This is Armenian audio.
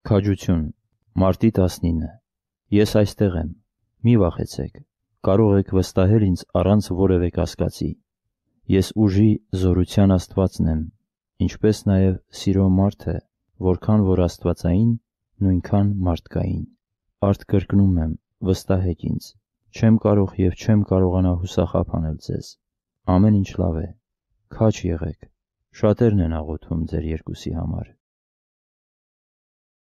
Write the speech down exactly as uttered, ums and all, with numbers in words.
Քաջություն, մարտի տասնինը։ Ես այստեղ եմ, մի վախեցեք, կարող եք վստահել ինձ առանց որևէ կասկածի։ Ես ուժի զորության Աստվածն եմ, ինչպես նաև սիրո մարդը, որքան որ աստվածային, նույնքան մարդկային։ Արդ կրկնում եմ, վստահեք ինձ, չեմ կարող և չեմ կարողանա հուսախաբ անել ձեզ։ Ամեն ինչ լավ է, քաջ եղեք, շատերն են աղոթում ձեր երկուսի համար։